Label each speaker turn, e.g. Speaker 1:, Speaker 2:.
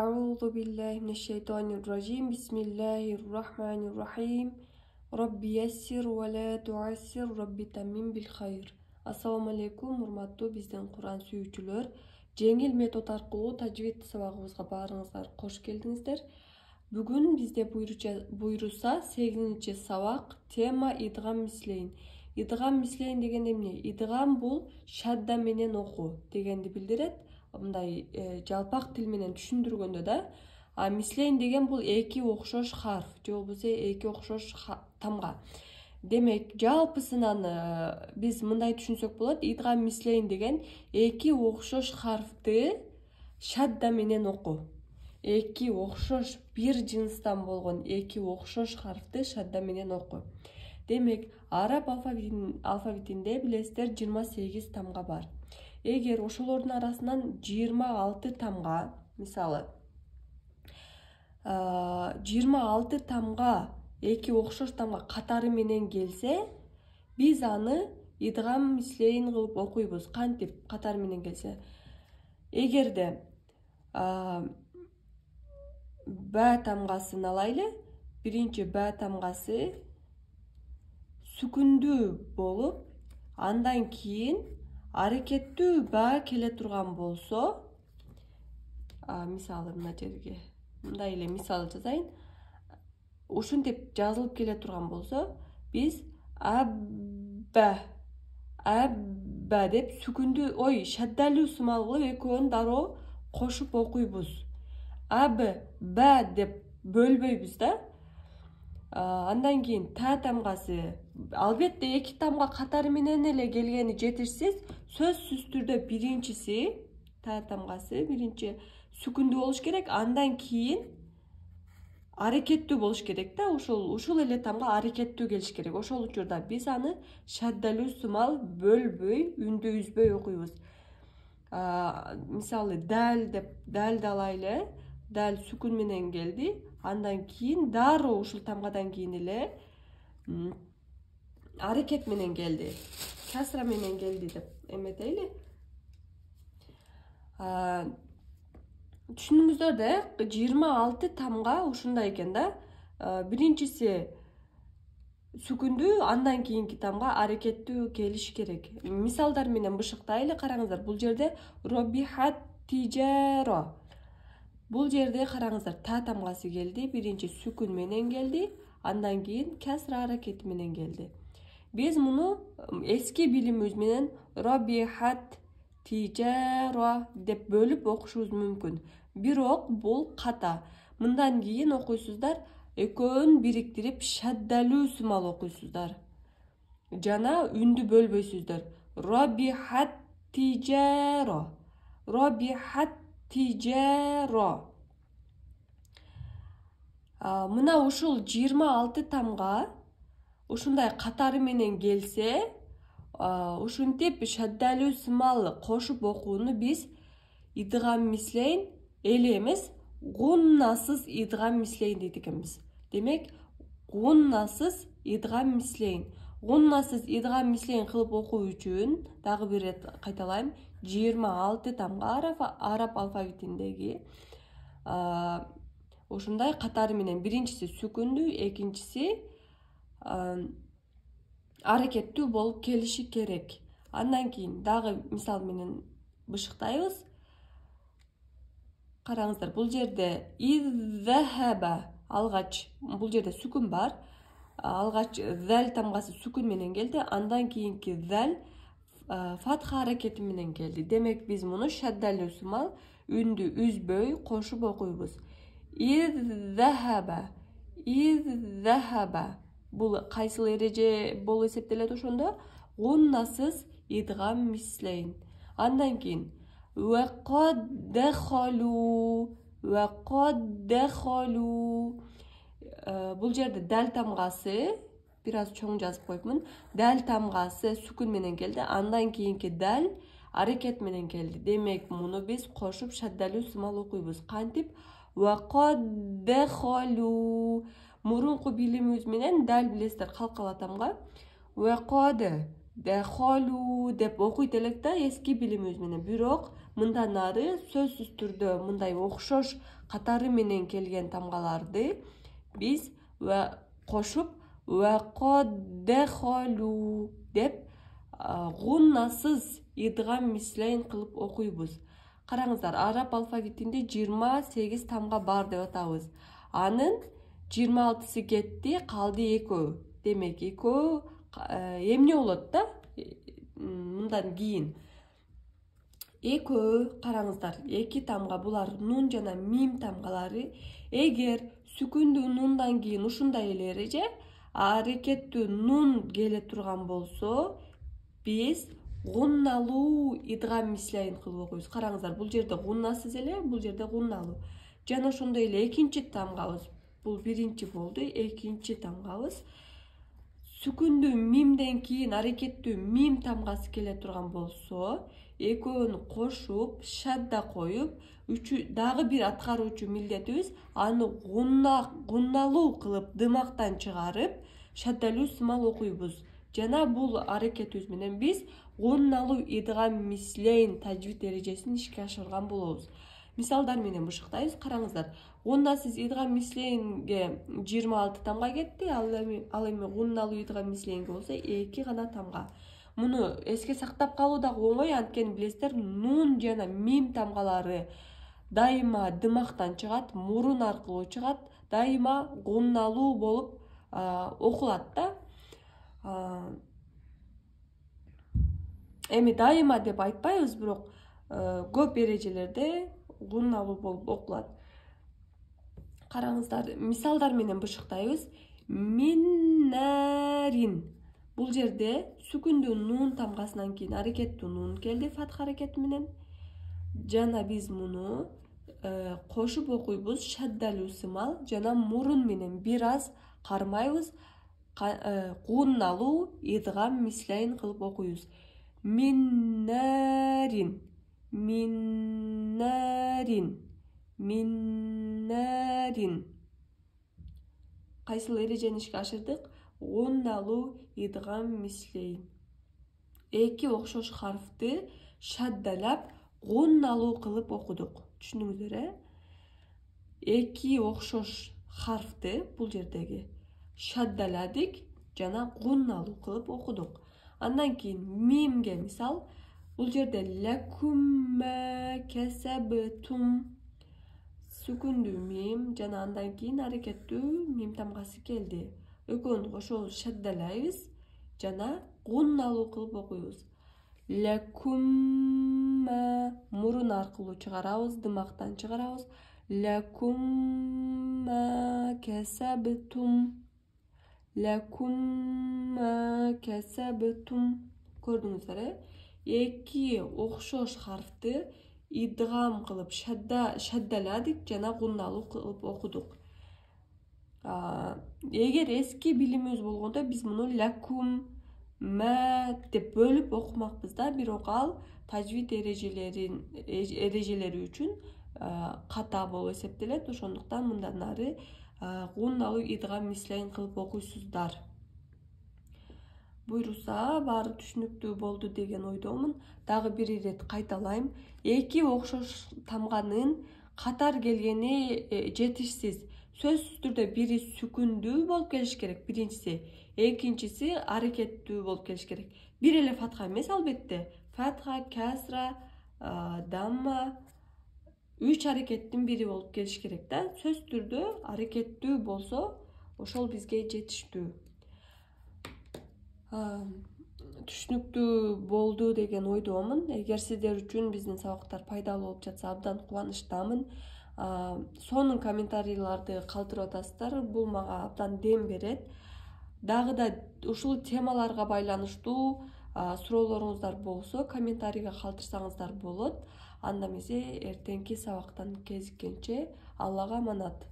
Speaker 1: أعوذ بالله من الشيطان الرجيم بسم الله الرحمن الرحيم ربي يسر ولا تعسر ربي تمم بالخير. Assalamu алейкум, урматтуу биздин Кур'ан сүйүүчүлөр. Жеңил метод аркылуу тажвид сабагыбызга баарыңыздар кош келдиңиздер. Бүгүн бизде буйруса 8-чи сабак, тема идгам мислейн. Идгам мислейн деген эмне? Идгам бул шадда менен окуу дегенди билдирет. Мындай жалпак тил менен түшүндүргөндө да, мислейн деген бул эки окшош харф, же болбосо эки окшош тамга. Демек, жалпысынан биз мындай түшүнсөк болот, идгам мислейн деген эки окшош харфты шадда менен окуу. Эки окшош бир жыныстан болгон эки окшош харфты шадда менен окуу. Демек, араб алфавитинде билесиздер 28 тамга бар. Эгер ошолордун арасынан 26 тамга, мисалы 26 тамга эки окшош тамга катары менен келсе, биз аны идгам мислейн кылып окуйбуз. Кантип катары менен келсе? Эгерде ба тамгасын алайлы, биринчи ба тамгасы сүкүндүү болуп, андан кийин аракеттүү ба келе турган болсо, мисалы мына жерге мындай эле мисал жазайын. Ушинтип жазылып келе турган болсо, биз абба деп сүкүндүү, шаддалуу сымал кылып экөөнү дароо кошуп окуйбуз. Ба деп бөлбөйбүз да. Андан кийин та тамгасы, албетте эки тамга катары менен эле келгени жетишсиз, сөзсүз түрдө биринчиси, та тамгасы биринчи сүкүндүү болуш керек, андан кийин аракеттүү болуш керек да, ушул эле тамга аракеттүү келиш керек. Ошол учурда биз аны шаддалуу сымал бөлбөй, үндү үзбөй окуйбуз. Мисалы далды алайлы, дал сүкүн менен келди, андан кийин дароо ушул тамгадан кийин эле аракет менен келди, касра менен келди деп эметейли. Түшүндүңүздөр да, 26 тамга ушундай экен да. Биринчиси сүкүндүү, андан кийинки тамга аракеттүү келиш керек. Мисалдар менен бышыктайлы, караңыздар. Бул жерде робихат тижаро. Бул жерде караңыздар, та тамгасы келди, биринчи сүкүн менен келди, андан кийин касра аракети менен келди. Биз муну эски билимибиз менен робихат тижаро деп бөлүп окушубуз мүмкүн. Бирок бул ката. Мындан кийин окуйсуздар, экөөнү бириктирип шаддалуу сымал окуйсуздар. Жана үндү бөлбөйсүздөр. Робихат тижаро. Робихат тижаро. Мына ушул 26 тамга ушундай катары менен келсе, ушинтип шаддалуу сымал кошуп окууну биз идгам мислейн эле эмес, гуннасыз идгам мислейн дейт экенбиз. Демек, гуннасыз идгам мислейн. Гуннасыз идгам мислейн кылып окуу үчүн, дагы бир рет кайталайм, 26 тамга араб алфавитиндеги ушундай катары менен. Биринчиси сүкүндүү, экинчиси аракеттүү болуп келиши керек. Андан кийин дагы мисал менен бышыктайбыз. Караңыздар, бул жерде иззахаба, алгач бул жерде сүкүн бар. Алгач зал тамгасы сүкүн менен келди, андан кийинки зал фатха аракети менен келди. Демек, биз муну шаддалуу сымал үндү үзбөй кошуп окуйбуз. Иззахаба, иззахаба. Бул кайсыл эреже болуп эсептелет ошондо? Гуннасыз идгам мислейн. Андан кийин вакад дахалу, вакад дахалу. Бул жерде дал тамгасы, бир аз чоң жазып коюпмун. Дал тамгасы сүкүн менен келди, андан кийинки дал аракет менен келди. Демек, муну биз кошуп шаддалуу сымал окуйбуз. Кантип? Вакад дахалу. Мурунку билимибиз менен дал билесиздер калкала тамга. Вакад дахалу деп окуйт элек да, эски билимибиз менен. Бирок мындан ары сөзсүз түрдө мындай окшош катары менен келген тамгаларды биз кошуп вакоддехолу деп гуннасыз идгам мислейн кылып окуйбуз. Караңыздар, араб алфавитинде 28 тамга бар деп атабыз. Анын 26-сы кетти, калды 2. Демек 2 эмне болот да? Мындан кийин 2 караңыздар, 2 тамга булар нун жана мим тамгалары. Эгер сүкүндүү нундан кийин ушундай эле эреже аракеттүү нун келе турган болсо, биз гунналуу идгам мислейн кылып окуйбуз. Караңыздар, бул жерде гуннасыз эле, бул жерде гунналуу. Жана ошондой эле экинчи тамгабыз. Бул биринчи болду, экинчи тамгабыз. Сүкүндүү мимден кийин аракеттүү мим тамгасы келе турган болсо, экөөнү кошуп, шадда коюп, дагы бир аткаруучу милдетибиз аны гунналуу кылып дымактан чыгарып, шаддалуу сымал окуйбуз. Жана бул аракетибиз менен биз гунналуу идгам мислейн тажвид эрежесин ишке ашырган болобуз. Мисалдар менен бышыктайбыз. Караңыздар, гуннасыз идгам мислейнге 26 тамга кетти, ал эми гунналуу идгам мислейнге болсо 2 гана тамга. Муну эске сактап калуу дагы оңой, анткени билесиздер, нун жана мим тамгалары дайыма дымактан чыгат, мурун аркылуу чыгат, дайыма гунналуу болуп окулат да. Эми дайыма деп айтпайбыз, бирок көп эрежелерде гунналуу болуп окулат. Караңыздар, мисалдар менен бышыктайбыз. Миннарин. Бул жерде сүкүндүү нун тамгасынан кийин аракеттүү нун келди фатха аракети менен. Жана биз муну кошуп окуйбуз, шаддалуу сымал жана мурун менен бир аз кармайбыз, гунналуу идгам мислейн кылып окуйбуз. Миннарин, миннарин, миннарин. Кайсыл эрежени ишке ашырдык? Гунналуу идгам мислейн. 2 окшош харфты шаддалап, гунналуу кылып окудук. Түшүндүңүздөр, 2 окшош харфты бул жердеги шаддаладык жана гунналуу кылып окудук. Андан кийин мимге мисал, бул жерде лакумма касабтум, сүкүндүү мим жана андан кийин аракеттүү мим тамгасы келди. Экөөнү кошобуз, шаддалайбыз жана гунналуу кылып окуйбуз. Лакумма, мурун аркылуу чыгарабыз, дымактан чыгарабыз. Лакумма касабтум, лакумма касабтум. Көрдүңүздөр, 2 окшош харфты идгам кылып шаддаладык жана гунналуу кылып окудук. Эгер эски билимибиз болгондо биз муну лакум ма деп бөлүп окумакпыз да, бирок ал тажвид эрежелери үчүн ката болуп эсептелет. Ошондуктан мындан ары гунналуу идгам мислейн кылып окуйсуздар. Буйруса, баары түшүнүктүү болду деген ойдомун. Дагы бир ирет кайталайм. 2 окшош тамганын катар келгени жетишсиз. Сөзсүз түрдө бири сүкүндүү болуп келиш керек, биринчиси. Экинчиси аракеттүү болуп келиш керек. Бир эле фатха эмес, албетте. Фатха, касра, дамма 3 аракеттин бири болуп келиш керек да. Сөзсүз түрдө аракеттүү болсо, ошол бизге жетиштүү. Түшүнүктүү болду деген ойдомун. Эгер сиздер үчүн биздин сабактар пайдалуу болуп жатса, абдан кубанычтамын. Сонун комментарийларды калтырып атасыздар. Бул мага абдан дем берет. Дагы да ушул темаларга байланыштуу суроолоруңуздар болсо, комментарийге калтырсаңыздар болот. Анда эмесе эртеңки сабактан кезиккенче Аллага аманат.